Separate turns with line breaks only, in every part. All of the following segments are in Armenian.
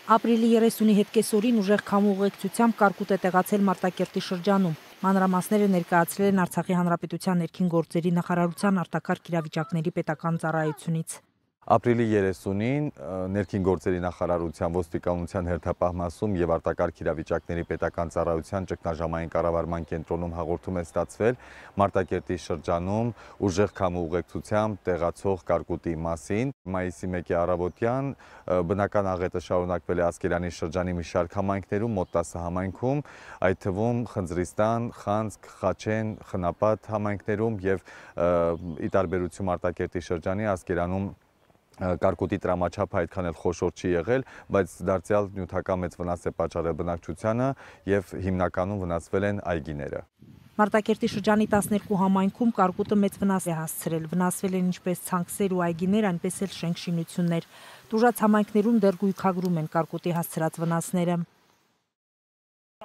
Ապրիլի 30-ի հետ կեսօրին ուժեղ քամու ուղեկցությամբ կարկուտ է տեղացել Մարտակերտի շրջանում։ Մանրամասները ներկայացրել են Արցախի Հանրապետության ներքին գործերի նախարարության արտակարգ իրավիճակների պետական ծառայությունից։
Ապրիլի 30-ին ներքին գործերի նախարարության ոստիկանության հերթապահ մասում եւ արտակարգ իրավիճակների պետական ծառայության ճգնաժամային կառավարման կենտրոնում հաղորդում է ստացվել Մարտակերտի շրջանում ուժեղ քամու ուղեկցությամբ տեղացող կարկուտի մասին։ Մայիսի 1-ի առավոտյան բնական աղետը շարունակվել է Ասկերանի շրջանի մի շարք համայնքներում, մոտ 10 համայնքում, այդ թվում Խնձրիստան, Խանձկ, Խաչեն, Խնապատ համայնքներում եւ ի տարբերություն Մարտակերտի շրջանի Ասկերանում կարկուտի տրամաչափը այդքան էլ խոշոր չի եղել, բայց դարձյալ նյութական մեծ վնաս է պատճառել բնակչությանը եւ հիմնականում վնասվել են այգիները։
Մարտակերտի շրջանի 12 համայնքում կարկուտը մեծ վնաս է հասցրել, վնասվել են ինչպես ցանքսեր ու այգիներ, այնպես էլ շենք-շինություններ։ Տուժած համայնքներում դեռ գույքագրում են կարկուտի հասցրած վնասները։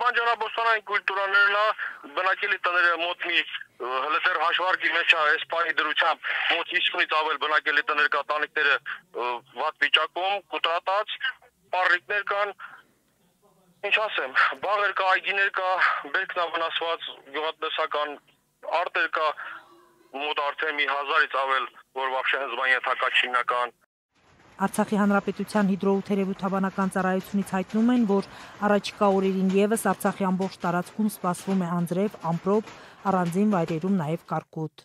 Բանջարաբոստանային կուլտուրաներն բնակելի տները մոտ մի հլդեր հաշվարկի մեջ է այս պահի դրությամբ մոտ 50-ից ավել բնակելի տներ կա, տանիքները վատ վիճակում, կուտրատած, պառիկներ կան, ինչ ասեմ, բաղեր կա, այգիներ կա, բերքն է վնասված, գյուղատնտեսական արտեր կա, մոտ արդեն մի 1000-ից ավել, որ вообще հզբան ենթակա չինական։
Արցախի Հանրապետության հիդրոթերապևտաբանական ծառայությունից հայտնում են, որ առաջիկա օրերին եւս Արցախի ամբողջ տարածքում սպասվում է անձրև, ամպրոպ, առանձին վայրերում նաև կարկուտ։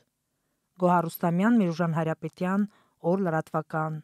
Գոհար Ռուստամյան, Միրուժան Հարապետյան, օր լրատվական։